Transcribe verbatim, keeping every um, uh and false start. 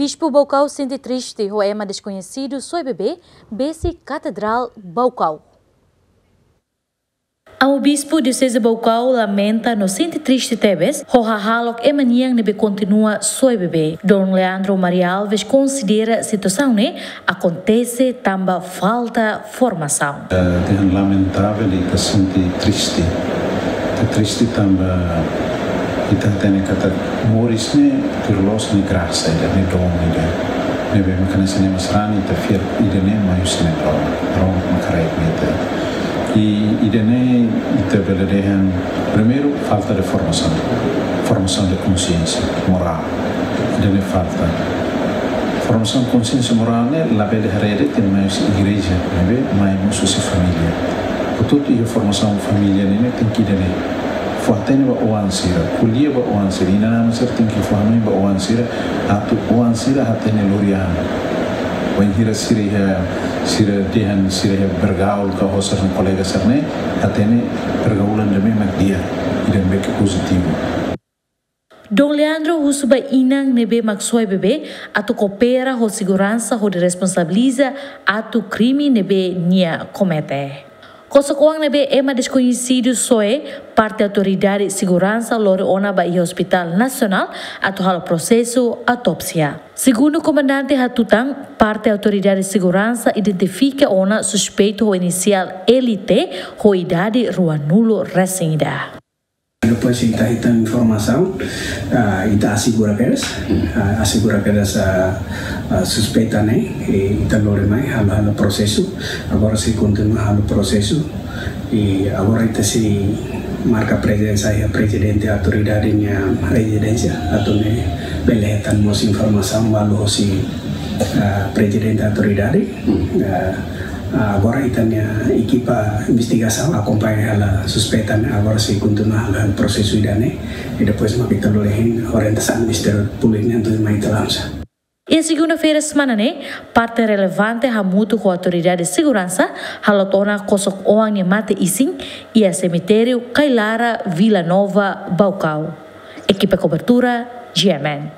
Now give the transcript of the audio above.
Bispu Baucau sente triste ho ema deskoñesidu soe bebé besik Katedrál Baucau. Amu Bispu Dioseze Baucau lamenta no sente triste tebes ho hahalok ema nian ne'ebé kontinua soe bebé. Dom Leandro Maria Alves konsidera situasaun ne'e akontese tanba falta formasaun. Eh, dehan lamentavel, ita sente triste. Ita triste tanba ita hatene katak moris ne'e tuir loos ne'e grasa ida, ne'e dom ida. Ne'ebé maka hanesan ne'e mós rani ita fiar ida-ne'e mai husi Maromak, Maromak mak haraik mai ita. I ida-ne'e ita bele dehan, primeiru, falta de formasaun. Formasaun de konsiénsia morál. Ida-ne'e falta. Formasaun konsiénsia morál ne'e labele haree de'it mai husi igreja, ne'ebé mai mós husi família. Portantu, iha formasaun família ne'e, ne'e tenke ida-ne'e. Fó hatene ba oan sira, ko'alia ba oan sira, inan-aman sira tenke fó hanoin ba oan sira, atu oan sira hatene lori an. Wainhira sira iha, sira dehan sira iha bergaul ka ho sira-nia kolega sira-ne'e, hatene pergaulan ida-ne'e mak di'ak, ida-ne'ebé ke pozitivu. Dom Leandro husu ba inan ne'ebé mak soe bebé atu koopera ho seguransa hodi responsabiliza atu krime ne'ebé nia komete. Kosok-oan ne'ebé ema deskoñesidu soe, parte autoridade seguransa lori ona ba iha Hospitál Nasionál atu halo prosesu autópsia. Segundu komandante hatutan, parte autoridade seguransa identifika ona suspeitu ho inisiál L T ho idade ruanulu resin ida. Depois ita hetan informasaun, ah, ita asegura kedas, ah, asegura kedas, ah, ah, suspeita ne'e, i ita lori mai, halo, halo prosesu, agora sei kontinua halo prosesu, i agora ita sei marka prezensa iha prezidente autoridade nia rezidénsia, atu nune'e bele hetan mós informasaun balu hosi, ah, prezidente autoridade, ah, Ah, agora ita-nia ekipa investigasaun akompaña hela suspeita ne'e, agora sei kontinua halo, halo prosesu ida-ne'e, i depois mak ita lori hein orientasaun Ministériu Públiku nian tuirmai ita lansa. Iha segunda-feira semana ne'e, parte relevante hamutuk ho autoridade seguransa halot ona kosok-oan nia mate-isin iha semitériu Kailara, Vila Nova, Baucau. Ekipa kobertura, G M N.